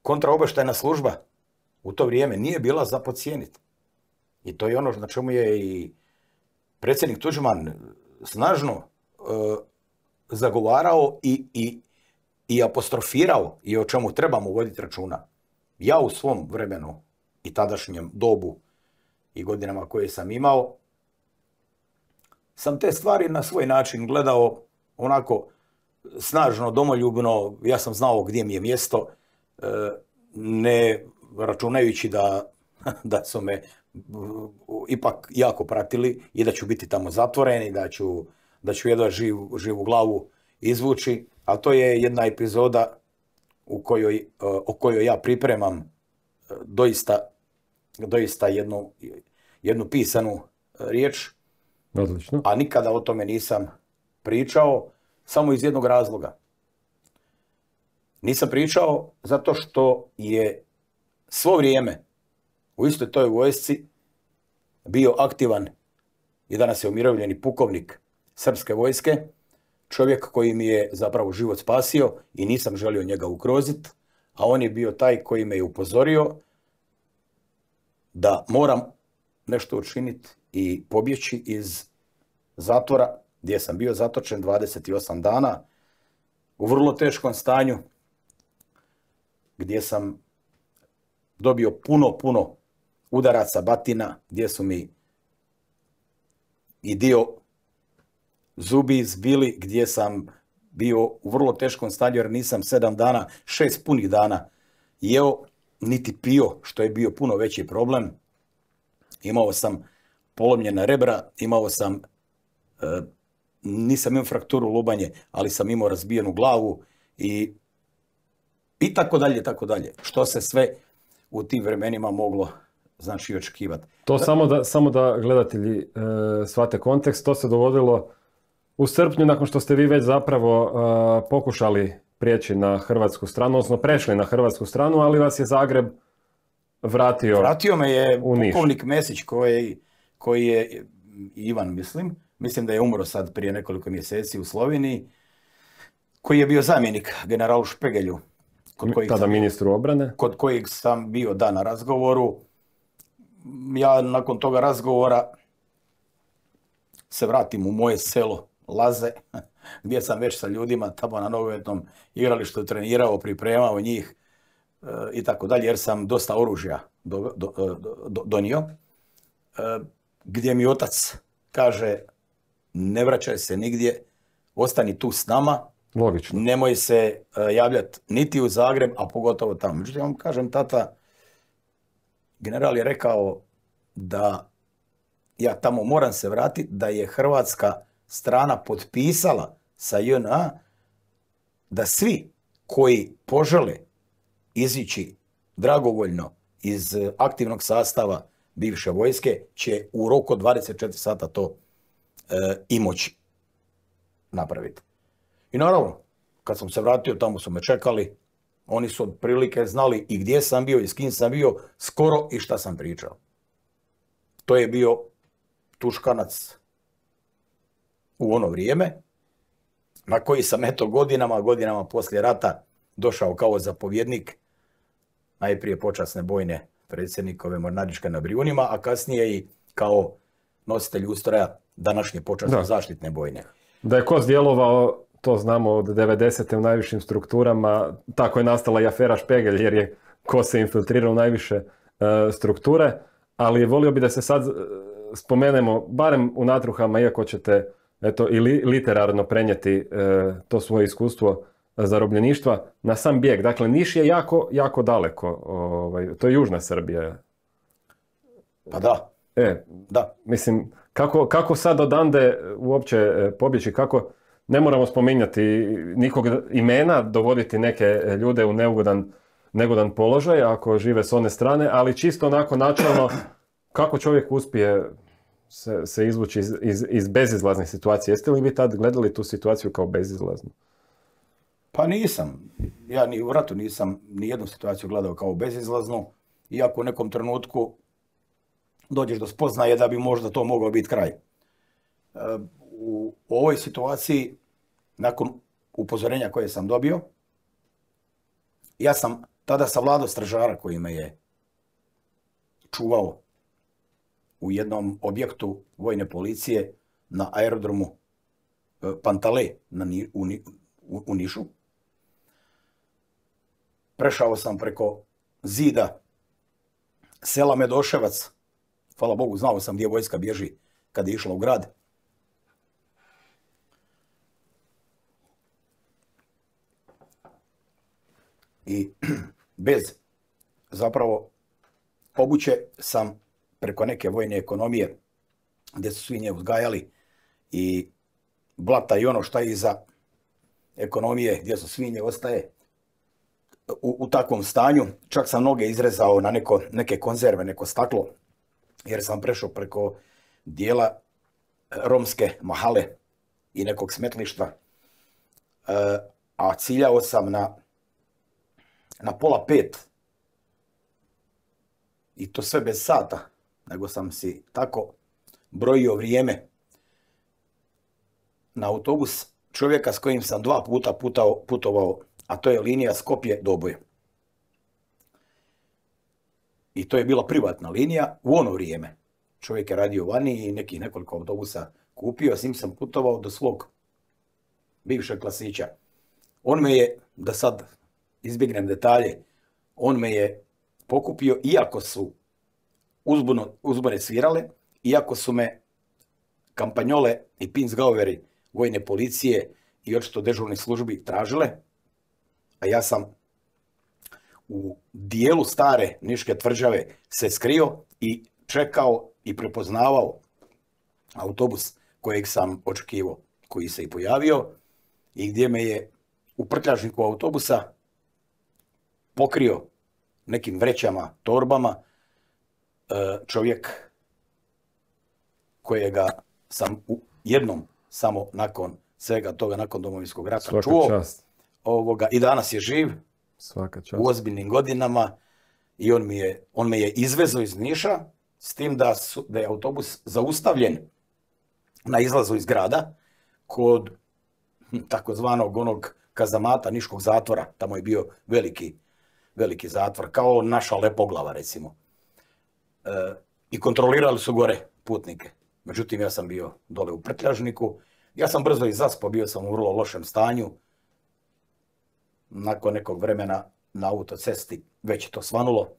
kontraobavještajna služba u to vrijeme nije bila za podcijeniti. I to je ono na čemu je i predsjednik Tuđman snažno zagovarao i apostrofirao i o čemu trebamo voditi računa. Ja u svom vremenu i tadašnjem dobu i godinama koje sam imao, sam te stvari na svoj način gledao onako snažno, domoljubno. Ja sam znao gdje mi je mjesto, ne računajući da su me ipak jako pratili i da ću biti tamo zatvoren i da ću jedva živu glavu izvući. Ali to je jedna epizoda o kojoj ja pripremam doista jednu pisanu riječ. Odlično. A nikada o tome nisam pričao, samo iz jednog razloga. Nisam pričao zato što je svo vrijeme u istoj toj vojsci bio aktivan i danas je umirovljeni pukovnik srpske vojske, čovjek koji mi je zapravo život spasio i nisam želio njega ugroziti, a on je bio taj koji me je upozorio da moram nešto učiniti i pobjeći iz zatvora gdje sam bio zatočen 28 dana u vrlo teškom stanju, gdje sam dobio puno udaraca, batina, gdje su mi i dio zubi izbili, gdje sam bio u vrlo teškom stanju jer nisam 7 dana, 6 punih dana jeo niti pio, što je bio puno veći problem. Imao sam polomljena rebra, nisam imao frakturu lubanje, ali sam imao razbijenu glavu i tako dalje, tako dalje. Što se sve u tim vremenima moglo znači očekivati. To samo da gledatelji shvate kontekst, to se dogodilo u srpnju nakon što ste vi već zapravo pokušali prijeći na hrvatsku stranu, odnosno prešli na hrvatsku stranu, ali vas je Zagreb vratio. Vratio me je pukovnik Mesić koji je Ivan, mislim da je umro sad prije nekoliko mjeseci u Sloveniji, koji je bio zamjenik generalu Špegelju. Tada ministru obrane. Kod kojeg sam bio na razgovoru. Ja nakon toga razgovora se vratim u moje selo Laze, gdje sam već sa ljudima tamo na nogometnom igralištu trenirao, pripremao njih i tako dalje, jer sam dosta oružja donio. Gdje mi otac kaže, ne vraćaj se nigdje, ostani tu s nama. Logično. Nemoj se javljati niti u Zagreb, a pogotovo tamo. Međutim, ja vam kažem, tata, general je rekao da ja tamo moram se vratiti, da je hrvatska strana potpisala sa JNA da svi koji požele izići dragovoljno iz aktivnog sastava bivše vojske će u roku od 24 sata to i moći napraviti. I naravno, kad sam se vratio, tamo su me čekali, oni su otprilike znali i gdje sam bio i s kim sam bio, skoro i šta sam pričao. To je bio Tuškanac u ono vrijeme, na koji sam godinama poslije rata došao kao zapovjednik, najprije počasne bojne predsjednikove mornaričke na Brijunima, a kasnije i kao nositelj ustroja današnje počasne zaštitne bojne. Da je KOS djelovao, to znamo od 90. u najvišim strukturama, tako je nastala i afera Špegelj, jer je KOS se infiltrirao u najviše strukture, ali volio bi da se sad spomenemo, barem u natruhama, iako ćete i literarno prenijeti to svoje iskustvo zarobljeništva, na sam bijeg. Dakle, Niš je jako daleko, to je južna Srbija. Pa da. Da. Mislim, kako sad odande uopće pobjeći, kako ne moramo spominjati nikog imena, dovoditi neke ljude u neugodan položaj ako žive s one strane, ali čisto onako načelno kako čovjek uspije se izvući iz bezizlaznih situacija. Jeste li vi tad gledali tu situaciju kao bezizlaznu? Pa nisam. Ja ni u ratu nisam ni jednu situaciju gledao kao bezizlaznu, iako u nekom trenutku dođeš do spoznaje da bi možda to mogao biti kraj. U ovoj situaciji, nakon upozorenja koje sam dobio, ja sam tada savladao stražara koji me je čuvao u jednom objektu vojne policije na aerodromu Pantale u Nišu. Prešao sam preko zida sela Medoševac. Hvala Bogu, znao sam gdje vojska bježi kad je išla u grad. I bez zapravo obuće sam preko neke vojne ekonomije gdje su svinje uzgajali i blata i ono šta je iza ekonomije gdje su svinje ostaje u takvom stanju. Čak sam noge izrezao na neke konzerve, neko staklo, jer sam prešao preko dijela romske mahale i nekog smetlišta, a ciljao sam na 4:30 i to sve bez sata, nego sam si tako brojio vrijeme na autobus čovjeka s kojim sam 2 puta putovao, a to je linija Skopje-Doboj. I to je bila privatna linija u ono vrijeme. Čovjek je radio vani i nekoliko autobusa kupio, s njim sam putovao do svog bivšeg klasića. On me je, da sad izbjegnem detalje, on me je pokupio iako su uzbune svirale, iako su me kampanjole i pinsgaueri vojne policije i očito dežurnih službi tražile, a ja sam u dijelu stare Niške tvrđave se skrio i čekao i prepoznavao autobus kojeg sam očekivao, koji se i pojavio i gdje me je u prtljažniku autobusa pokrio nekim vrećama, torbama, čovjek kojega sam jednom samo nakon svega toga, nakon Domovinskog rata čuo. I danas je živ. Svaka čast. U ozbiljnim godinama i on me je izvezao iz Niša s tim da je autobus zaustavljen na izlazu iz grada kod takozvanog onog kazamata Niškog zatvora. Tamo je bio veliki zatvor, kao naša Lepoglava recimo. I kontrolirali su gore putnike. Međutim, ja sam bio dole u prtljažniku. Ja sam brzo i zaspao, bio sam u vrlo lošem stanju. Nakon nekog vremena na autocesti već je to svanulo.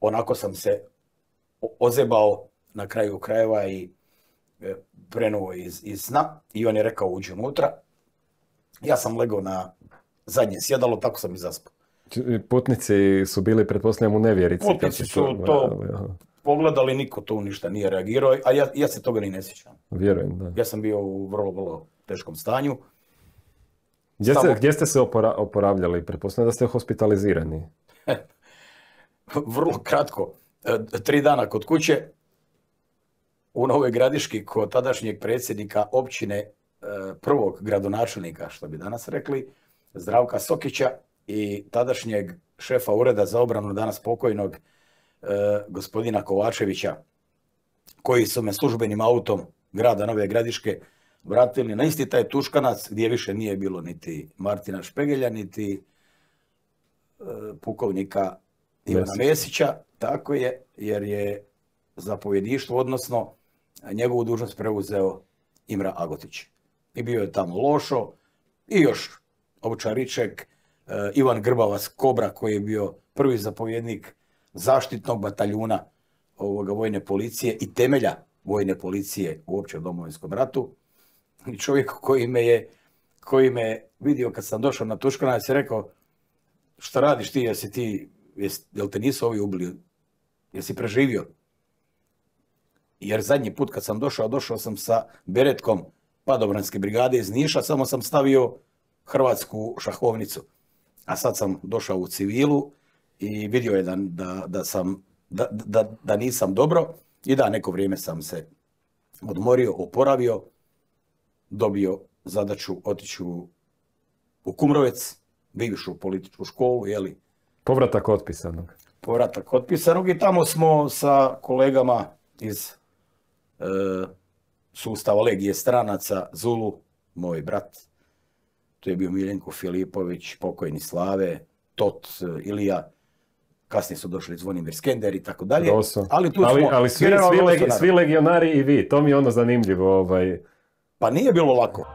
Onako sam se ozebao na kraju krajeva i prenuo iz sna i on je rekao uđi unutra. Ja sam legao na zadnje sjedalo, tako sam i zaspao. Putnici su bili, pretpostavljam, u nevjerici. Putnici su to pogledali, niko to ništa nije reagirao, a ja se toga ni ne sjećam. Vjerujem, da. Ja sam bio u vrlo teškom stanju. Gdje ste se oporavljali? Pretpostavljam da ste hospitalizirani. Vrlo kratko. 3 dana kod kuće u Novoj Gradiški kod tadašnjeg predsjednika općine, prvog gradonačelnika, što bi danas rekli, Zdravka Sokića i tadašnjeg šefa ureda za obranu, danas pokojnog, gospodina Kovačevića, koji su me službenim autom grada Nove Gradiške vratili na isti taj Tuškanac gdje više nije bilo niti Martina Špegelja, niti pukovnika Ivana Mesića, tako je, jer je zapovjedništvo, odnosno njegovu dužnost preuzeo Imra Agotić. I bio je tamo Lošo i još Ovčariček, Ivan Grbavac Kobra koji je bio prvi zapovjednik zaštitnog bataljuna vojne policije i temelja vojne policije uopće u Domovinskom ratu. I čovjek koji me vidio kad sam došao na Tuškanac je rekao šta radiš ti, jel te nisu ovi ubili, jesi preživio? Jer zadnji put kad sam došao sam sa beretkom padobranske brigade iz Niša, samo sam stavio hrvatsku šahovnicu. A sad sam došao u civilu i vidio je da nisam dobro i da neko vrijeme sam se odmorio, oporavio, dobio zadaću otići u Kumrovec, bivšu političku školu, jeli. Povratak otpisanog. Povratak otpisanog i tamo smo sa kolegama iz sustava Legije stranaca, Zulu, moj brat, tu je bio Miljenko Filipović, pokojni Slave, Tot, Ilija, kasnije su došli Zvonimir Skender i tako dalje. Ali tu smo... Ali svi legionari i vi, to mi je ono zanimljivo. Pa nije bilo lako.